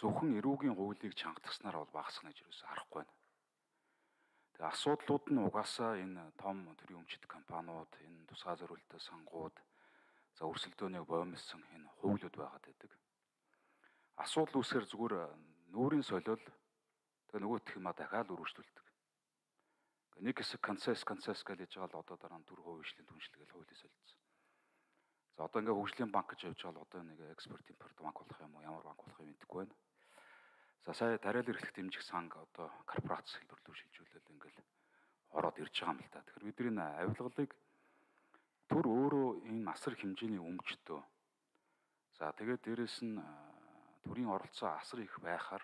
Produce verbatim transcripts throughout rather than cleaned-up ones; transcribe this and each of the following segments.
зөвхөн эрүүгийн хуулийг чангатгаснаар бол багасгах гэж юусэн харахгүй байна. Тэгээ асуудлууд нь угаасаа энэ том төрийн өмчит компаниуд, энэ тусгай зориулалтын сангууд, за өрсөлдөөнийг боомлсон энэ хуулиуд байгаад байдаг. Асуудал үүсээр зүгээр нүүрийн солиол тэгээ нөгөөх юм а дахиад өргөжлүүлдэг. Нэг хэсэг концесс концесс гэж яж байгаа л одоо дараа нь түр хуулийн түншлэгээл хуулийн солилцсон. За одоо ингээ хөгжлийн банк гэж явж байгаа л одоо нэг экспорт импорт банк болох юм уу, ямар банк болох юм гэдэггүй байна. За сая тариалан эрхлэх дэмжих санг одоо корпорац хэлбэр рүү шилжүүлэл ингээл ороод ирж байгаа юм л та. Тэгэхээр бидний энэ авилгалыг түр өөрөө энэ асар хэмжээний өмчтөө. За тэгээд дээрэс нь төрийн оролцоо асар их байхаар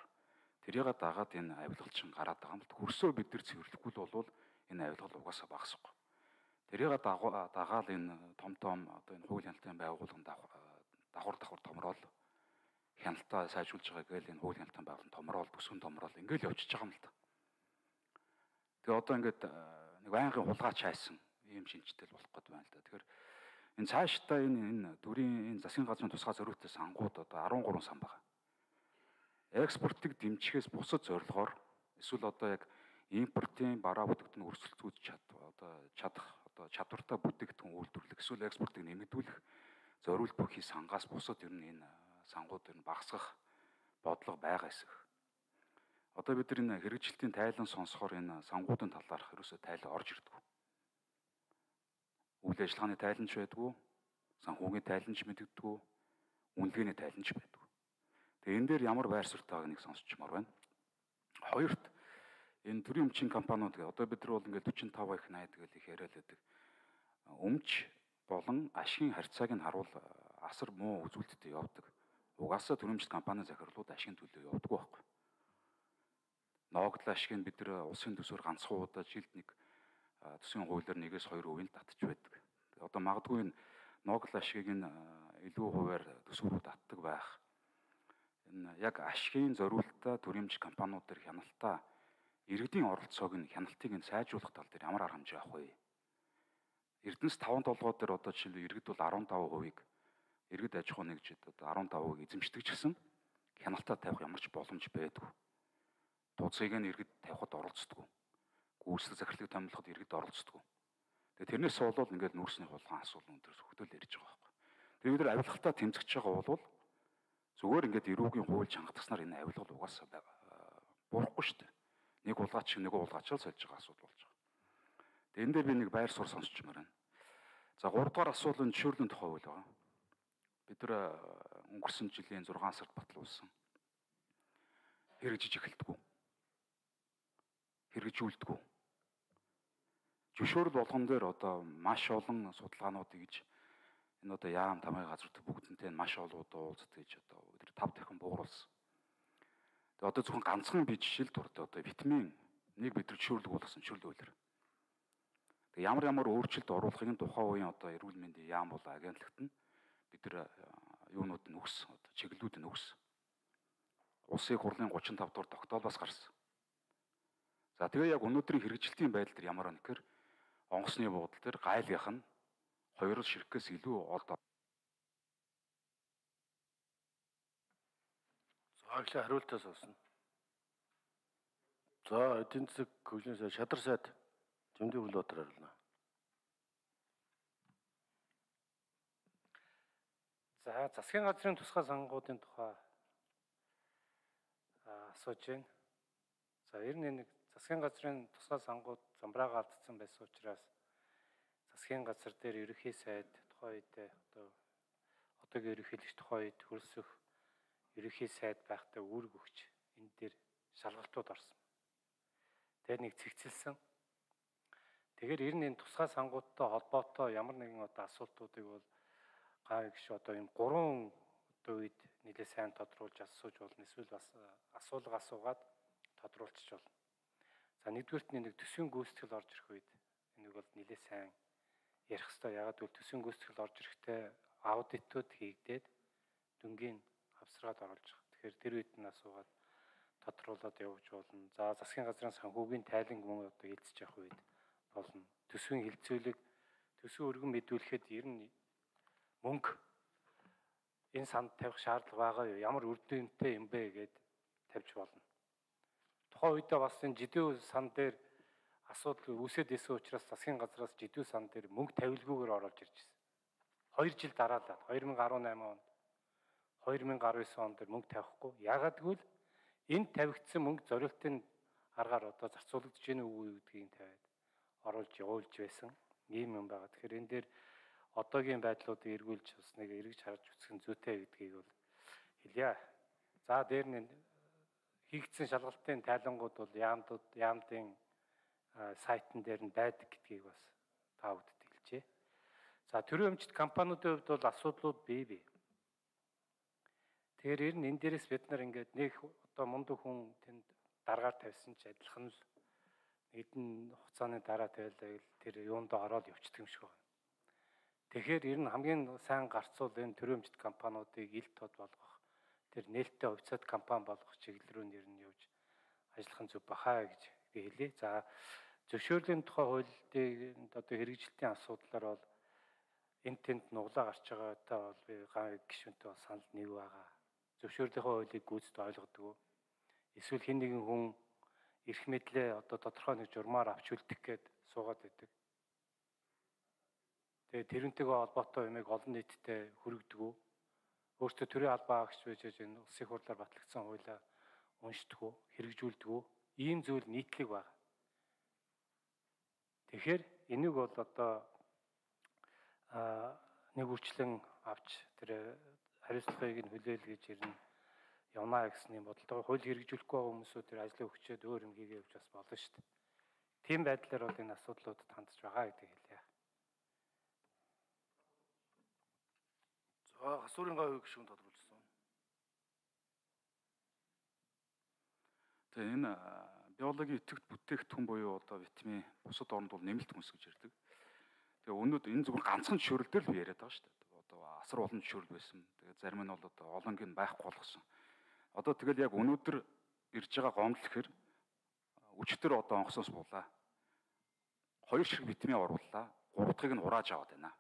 тэрийг дагаад энэ авилгалчин гараад байгаа юм л. Хөрсөө бид нар цэвэрлэхгүй л бол энэ авилгал угаасаа багасахгүй. Тэрийг дагаал энэ том том одоо энэ хууль хяналтын байгууллагын давхар давхар томрол хяналтаа сайжруулж байгаа гээл энэ хууль хяналтын байгууллагын томрол бүсгэн томрол ингээл явчихж байгаа юм л да. Тэгээ одоо ингээд нэг байнгын хулгайч хайсан ийм шинжтэй болох гээд байна л да. Тэгэхээр энэ цаашдаа энэ энэ дүрийн энэ засгийн газрын тусгай зориулалтын сангууд одоо арван гурван сан байгаа. Экспортыг дэмжихээс бусад зорилгоор эсвэл одоо яг импортын бараа бүтээгдэхүүн өрсөлдөөж чад одоо чадах одоо чадвартай бүтээгдэхүүн үйлдвэрлэх эсвэл экспортыг нэмэгдүүлэх зориулт бүхий сангаас бусад ер нь энэ сангууд ер нь багасгах бодлого байгаа эсэх. Одоо бид нар энэ хэрэгжилтийн тайлан сонсохоор энэ сангуудын талаарх ерөөсөө тайлан орж ирдэггүй. Үйл ажиллагааны тайланч байдгүй, санхүүгийн тайланч мэддэггүй, үнэлгээний тайланч байдгүй. Тэгээ энэ дээр ямар байр суурь тааг нэг сонсчмоор байна. Хоёрт энэ төрийн өмчийн компаниуд гэ одоо бид нар бол ингээд forty-five их ninety гэл их яриад байдаг. Өмч болон ашигын харьцааг нь харуул асар муу үзүүлэлттэй явдаг. Угаасаа төрийн өмчит компани захирлууд ашигын төлөө явдаг байхгүй. Ноогдол ашигыг бид нар улсын төсвөр ганцхан удаа жилд нэг төсвийн хуулиар нэгээс хоёр хувийн татчих байдаг. Одоо магадгүй энэ ноогдол ашигыг нь илүү хуваар төсвөрүүд татдаг байх. Энэ яг ашигын зориулалтаа төрийн өмчит компаниуд төр хяналтаа иргэдийн оролцоог нь хяналтыг нь сайжруулах тал дээр ямар арга хэмжээ авах вэ? Эрдэнэс таван толгой дээр одоо жишээлбэл иргэд бол арван таван хувийг иргэд аж ахуй нэгжид одоо арван таван хувийг эзэмшдэг ч гэсэн хяналтаа тавих ямар ч боломж байдгүй. Тууцыг нь иргэд тавихад оролцдог. Гүйцэтгэх захирлыг томилоход иргэд оролцдог. Тэгээ тэрнээс болоод ингээд нүүрсний хулгайн асуудал өндөр хөвтөл ярьж байгаа байхгүй. Тэгээ бид нар авилгалтаа тэмцэж байгаа бол зүгээр ингээд эрүүгийн хууль чангатгаснаар энэ авилгал угаасаа бурахгүй шүү дээ. Нэг улгаач шиг нэг улгаачаал сольж байгаа асуудал болж байгаа. Тэгээ энэ дээр би нэг байр суурь сонсчмаар байна. За гурав дахь асуудал нь жишүүрлийн тухай хууль байгаа. Бид нар өнгөрсөн жилийн зургаан сард батлуулсан. Хэрэгжиж эхэлдэггүй. Хэрэгжүүлдэггүй. Жишүүрл болгон дээр одоо маш олон судалгаанууд гэж энэ одоо яам тамгай газрууд бүгднтэй маш олон удаа уулздаг гэж одоо бид нар тав дахин бууруулсан. Тэгээ одоо зөвхөн ганцхан би жишээл дуртай одоо витамин нэг бид нар жишүүрлэг болгосон жишүүрлэг үйлэр. Тэгээ ямар ямар өөрчлөлт оруулахыг нь тухайн үеийн одоо эрүүл мэндийн яам бол агентлагт нь бид нар юунууд нь өгс одоо чиглэлүүд нь өгс. Улсын хурлын thirty-five дугаар тогтоолоос гарсан. За тэгээ яг өнөөдрийн хэрэгжилтийн байдал дээр ямар байна гэхээр онгоцны буудал дээр гайлгийнх нь хоёр ширхгээс илүү олд. За их хариултаас олсон. За эдийн засаг хөгжлийн сайд Шадар сайд Жимдийн Хүлбаатар хариулна. За засгийн газрын тусгай сангуудын тухай асууж байна. За ер нь нэг засгийн газрын тусгай сангууд замбраага алдсан байсан учраас засгийн газар дээр ерөнхий сайд тухайн үедээ одоо одоогийн ерөнхийлөгч тухайн үед хөрсөх ерөнхий сайд байхдаа үүрэг өгч энэ дээр шалгалтууд орсон. Тэгээд нэг цэгцэлсэн. Тэгэхээр ер нь энэ тусгай сангуудтай холбоотой ямар нэгэн одоо асуултуудыг бол гай гişү одоо энэ гурван одоо үед нэлээд сайн тодруулж асууж болно. Эсвэл бас асуулга асуугаад тодруулчих болно. За нэгдүгээрт нэг төсвийн гүйцэтгэл орж ирэх үед энийг бол нэлээд сайн ярих хэрэгтэй. Ягаад гэвэл төсвийн гүйцэтгэл орж ирэхдээ аудитууд хийгдээд дүнгийн авсраад оруулж байгаа. Тэгэхээр тэр үед нь асуугаад тодруулаад явж болно. За засгийн газрын санхүүгийн тайлан мөн одоо эзэж явах үед болно. Төсвийн хилцүүлэг төсвийн өргөн мэдүүлэхэд ер нь мөнгө энэ санд тавих шаардлага байгаа юу? Ямар үр дүнтэй юм бэ гэд тавьж болно. Тухайн үедээ бас энэ жидүү сан дээр асуудал үүсээд исэн учраас засгийн газраас жидүү сан дээр мөнгө тавилгүйгээр оруулж ирж байсан. хоёр жил дараалаад хоёр мянга арван найман онд хоёр мянга арван девять онд мөнгө тавихгүй. Яагаад гэвэл энд тавигдсан мөнгө зориултын аргаар одоо зарцуулагдаж гэнэ үгүй гэдгийг тавиад оруулж явуулж байсан ийм юм байгаа. Тэгэхээр энэ дээр одоогийн байдлуудыг эргүүлж бас нэг эргэж харж үзэх нь зүйтэй гэдгийг бол хэлье. За дээр нь хийгдсэн шалгалтын тайлангууд бол яамдууд яамдын сайтн дээр нь байдаг гэдгийг бас та бүдэд хэлжээ. За төрийн өмчт компаниудын хувьд бол асуудлууд бий бий. Тэгэхээр ер нь энэ дээрээс бид нар ингээд нэг одоо мундаг хүн тэнд дараагаар тавьсан ч адилхан л нэгэн хугацааны дараа тавилаа гэл тэр юунд ороод явчихдаг юм шиг байна. Тэгэхээр ер нь хамгийн сайн гарцуул энэ төрийн өмчт компаниудыг ил тод болгох, тэр нээлттэй хувьцаат компани болгох чиглэл рүү нэр нь явж ажиллах нь зөв бахаа гэж би хэлье. За зөвшөөрлийн тухай хуулийг одоо хэрэгжилтийн асуудлаар бол энэ тэнд нуглаа гарч байгаатай бол би ган гишүүнтэй санал нэг байгаа. Зөвшөөрлийнхөө хуулийг гүйцэд ойлгодог. Эсвэл хэн нэгэн хүн эрх мэдлээ одоо тодорхой нэг журмаар авч үлдэх гээд суугаад байдаг. Тэгээ тэрнтэйгээ холбоотой юмыг олон нийтэд хүргэдэг. Өөртөө төрийн албаа агч байж энэ улсын хурлаар батлагдсан хуулиа уншдаг, хэрэгжүүлдэг. Ийм зүйл нийтлэг байна. Тэгэхээр энийг бол одоо а нэг үрчлэн авч тэр хариуцлагыг нь хүлээл гэж ирнэ явнаа гэсэн юм бодолтой хууль хэрэгжүүлэхгүй байгаа хүмүүсүүд тэр ажлыг өгчөөд өөр юм хийгээ явж бас болно шүү дээ. Тийм байдлаар бол энэ асуудлуудад хандж байгаа гэдэг хэлье. За хасуурын гавь гишүүн тодруулсан. Тэгээ энэ биологийн итгэвч бүтээгдэхүүн буюу одоо витамин бусад оронд бол нэмэлт хүнс гэж ярьдаг. Тэгээ өнөөдөр энэ зүгээр ганцхан жишөөрөл дээр л би яриад байгаа шүү дээ. Одоо асар олон жишөөрөл байсан. Тэгээ зарим нь бол одоо олонгийн байхгүй болгосон. Одоо тэгэл яг өнөөдөр ирж байгаа гомдол гэхэр өчтөр одоо онгоцоос буулаа. Хоёр шиг витамин орууллаа. Гурав дахьыг нь хурааж аваад байна.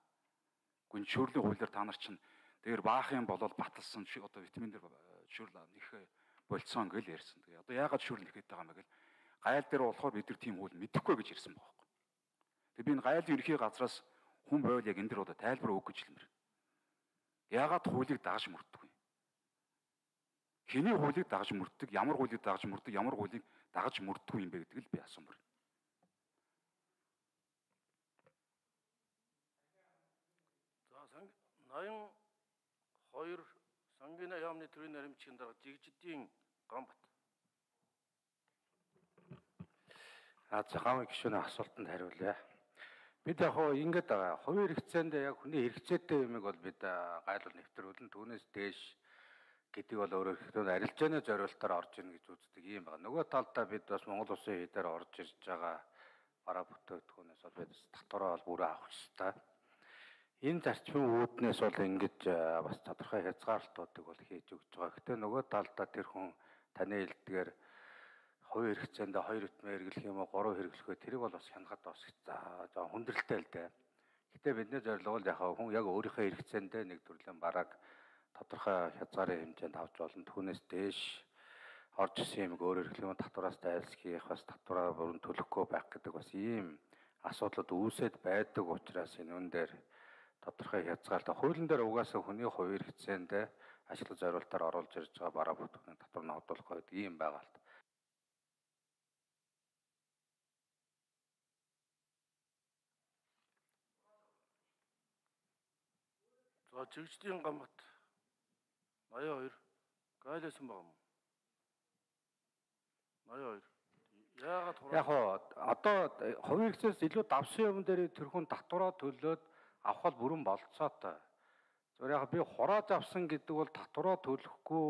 Гүн жишөөрлийн хуулиар та нар чинь дээр баах юм болол баталсан шиг одоо витамин дээр жишөөрл нэх болцсон гэл ярьсан. Тэгээ одоо яагаад жишөөрл нэхэд байгаа юм бэ гэл гайл дээр болохоор бид нар тийм хууль мэдэхгүй гэж ярьсан байхгүй. Тэгээ би энэ гайлын ерхий газраас хүн бойл яг энэ дэр одоо тайлбар өгөх гэж хэлмээр. Яагаад хуулийг дагаж мөрддөг вэ? Хэний хуулийг дагаж мөрддөг, ямар хуулийг дагаж мөрддөг, ямар хуулийг дагаж мөрддөг юм бэ гэдгийг л би асуумар. За санг ноён хоёр Сангина яамны төрийн наримчгийн дараа Жигжидийн Гамбат. А цагаан гишүүний асуултанд хариулъя. Бид яг хоо ингэж байгаа. Хувийн хэрэгцээнд яг хүний хэрэгцээтэй юмыг бол бид гайлуул нэвтрүүлэн түүнээс дээш гэдэг бол өөрөөр хэлбэл арилжааны зориултаар орж ийн гэж үздэг юм байна. Нөгөө талдаа бид бас Монгол Улсын хідээр орж ирж байгаа бараа бүтээгдэхүүнээс бол бид татвараа бол бүрээ авах ёстой. Энэ зарчмын үүднээс бол ингэж бас тодорхой хязгаарлалтуудыг бол хийж өгч байгаа. Гэтэ нөгөө талдаа тэр хүн таны хэлдгээр хувийн хэрэгцээндээ хоёр витамин хэрэглэх юм уу, гурав хэрэглэх үү тэрийг бол бас хянахад бас за хүндрэлтэй л дээ. Гэтэ бидний зорилго бол яг хүн яг өөрийнхөө хэрэгцээндээ нэг төрлийн бараг тодорхой хязгаарын хэмжээнд авч болно. Түүнээс дээш орж исэн юм өөрөөр хэлбэл татвараас дайлсхийх бас татвараа бүрэн төлөхгүй байх гэдэг бас ийм асуудлууд үүсэт байдаг учраас энэ үн дээр тодорхой хязгаарлалт хуулийн дээр угаасаа хүний хувийн хэрэгцээндээ ашиглах зорилтоор оруулж ирж байгаа бараа бүтээгдэхүүн татвар нь одуулах гэдэг ийм байгаа л. За Жигжидийн Гамбат ноён хоёр гайлсан байгаа юм. ноён хоёр яагаад Яг одоо хувийн хэрэгцээс илүү давсан юм дээр тэр хүн татвараа төлөөд авах бол бүрэн болцоотой. Зөвхөн яг би хурааж авсан гэдэг бол татвараа төлөхгүй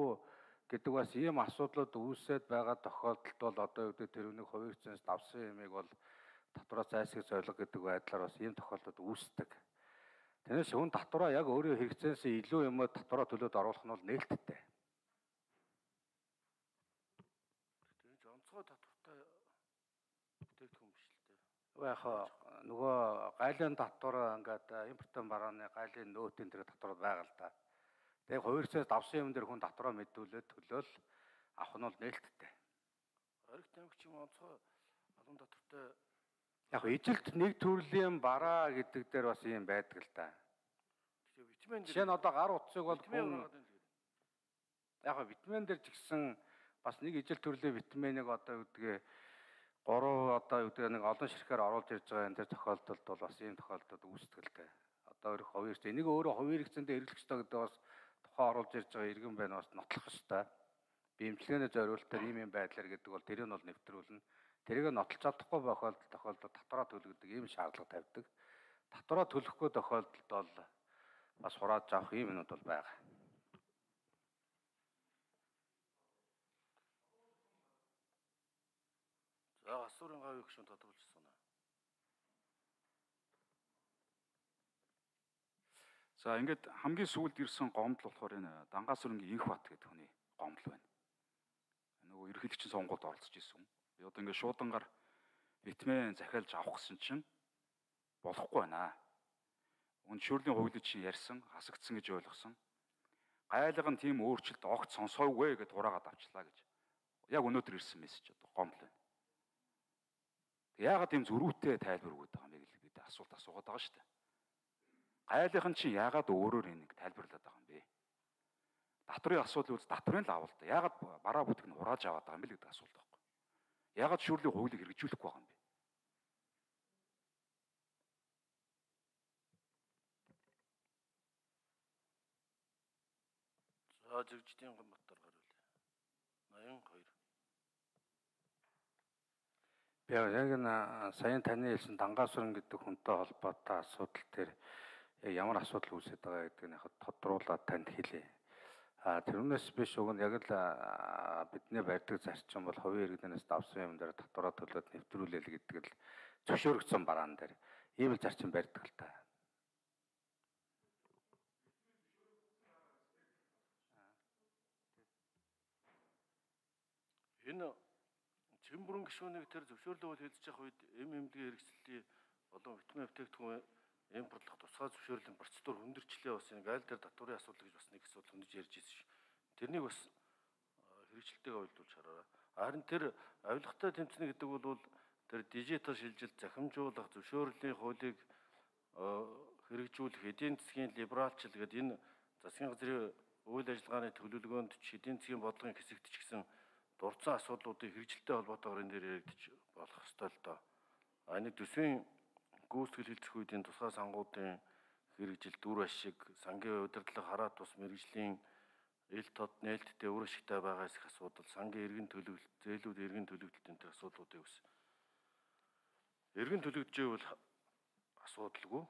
гэдэг бас ийм асуудлууд үүсээд байгаа тохиолдолд бол одоо юу гэдэг тэр үнийг хувийн хэрэгцээс давсан юмыг бол татвараа зайлсхийх зорилго гэдэг байдлаар бас ийм тохиолдолд үүсдэг. Тэрнээс хүн татвараа яг өөрийн хэрэгцээс илүү юм татвараа төлөөд оруулах нь бол нээлттэй. тэгж онцгой татвартай бүтээгдэхүүн биш л дээ. Яг нөгөө гайлын татвар ингээд импортын барааны гайлын нөөтийн тэр татвар байгаа л да. Тэгээ хувийн хэрэгцээс давсан юм дээр хүн татвараа мэдүүлээд төлөөл авах нь бол нээлттэй. Оригт аймаг ч юм онцгой алуун татвартай Яг ижилт нэг төрлийн бараа гэдэг дээр бас юм байдаг л да. тэгээ витамин Жишээ нь одоо гар утсыг бол витамин хүн гаргаад байна тэгээд. яг витамин дээр ч гэсэн бас нэг ижил төрлийн витаминыг одоо юу гэдгийг гурав одоо юу гэдэг нэг олон ширхээр оруулж ирж байгаа энэ төр тохиолдолд бол бас ийм тохиолдолд үүсдэгтэй. Одоо өөрөх хуваарч энийг өөрөө хувийн хэрэгцээндээ хэрэглэх ёстой гэдэг бас тухайн оруулж ирж байгаа иргэн байна бас нотлох ёстой. Биемчилгээний зориулалтаар ийм юм байдлаар гэдэг бол тэрийг нь бол нэвтрүүлнэ. Тэрийг нотлож чадахгүй тохиолдолд тохиолдолд татвараа төлөгдөг ийм шаардлага тавьдаг. Татвараа төлөхгүй тохиолдолд бол бас хурааж авах ийм юмуд бол байгаа. За асуурын гавь их шин тодруулж байна. За ингээд хамгийн сүүлд ирсэн гомдол болохоор энэ Дангаасүрэнгийн Инх бат гэдэг хүний гомдол байна. Нөгөө ерөнхийлөгчийн сонгуульд оролцож исэн. Би одоо ингээд шуудангаар витамин захиалж авах гэсэн чинь болохгүй байна. Үн шүүрлийн хуулийг чинь ярьсан, хасагдсан гэж ойлгосон. Гайлга нь тийм өөрчлөлт огт сонсоогүй гэж хураагаад авчлаа гэж. Яг өнөөдөр ирсэн мессеж одоо гомдол байна. Яагаад ийм зөрүүтэй тайлбар өгöd байгаа юм бэ гэж бид асуулт асуугаад байгаа шүү дээ. Гайлгын чинь яагаад өөрөөр энийг тайлбарлаад байгаа юм бэ? Татврын асуудал үз татврын л авал та. Яагаад бараа бүтэг нь хурааж аваад байгаа юм бэ гэдэг асуулт байхгүй. Яагаад шүүрлийн хуулийг хэрэгжүүлэхгүй байгаа юм бэ? За Жигжидийн Гомбаттар гарвал. ноён хоёр. Би яг энэ саяхан таны хэлсэн Дангаасүрэн гэдэг хүнтэй холбоотой асуудал дээр яг ямар асуудал үүсэж байгаа гэдгийг яг тодруулаад танд хэлье. А тэрнээс биш уг нь яг л бидний барьдаг зарчим бол хувийн иргэнээс давсан юм дээр татвараа төлөөд нэвтрүүлэл гэдэг л зөвшөөрөгдсөн бараан дээр ийм л зарчим барьдаг л та. Энэ чихэн бүрэн гишүүнийг тэр зөвшөөрлөө хэлж явах үед эм эмнэлгийн хэрэгслийн болон витамин бүтээгдэхүүн импортлох тусгай зөвшөөрлийн процедур хүндэрчлээ бас энэ гайл дээр татварын асуудал гэж бас нэг асуудал хүндэж ярьж ирсэн шүү. Тэрнийг бас хэрэгжилтэйгээ уйлдуулж хараарай. Харин тэр авилгатай тэмцэнэ гэдэг бол тэр дижитал шилжилт захимжуулах зөвшөөрлийн хуулийг хэрэгжүүлэх эдийн засгийн либералчил гэдэг энэ засгийн газрын үйл ажиллагааны төлөвлөгөөнд ч эдийн засгийн бодлогын хэсэгт ч гэсэн дурдсан асуудлуудыг хэрэгжилтэй холбоотойгоор энэ дээр яригдчих болох ёстой л доо. А энэ төсвийн гүйцэтгэл хэлцэх үед энэ тусгай сангуудын хэрэгжил дүр ашиг, сангийн удирдлага, хараа тус мэрэгжлийн ил тод нээлттэй үр ашигтай байгаас их асуудал, сангийн эргэн төлөвлөлт, зээлүүд эргэн төлөвлөлт энэ асуудлуудыг ус. Эргэн төлөвлөж байвал асуудалгүй.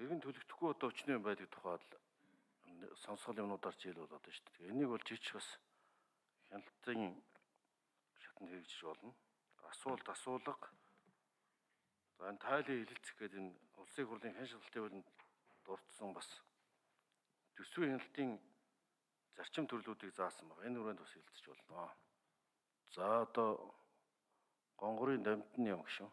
Эргэн төлөвлөхгүй одоо өчнөө юм байдаг тухайд сонсгол юмнуудаар ч ил болоод байна шүү дээ. Энийг бол жижиг бас хяналтын шатнд хэрэгжиж болно. Асуулт асуулга. За энэ тайлын хилэлцэх гэдэг энэ улсын хурлын хэн шалгалтын хуулинд дурдсан бас төсвийн хяналтын зарчим төрлүүдийг заасан байна. Энэ хүрээнд бас хилцэж болно. За одоо гонгорын дамтны юм гişүн.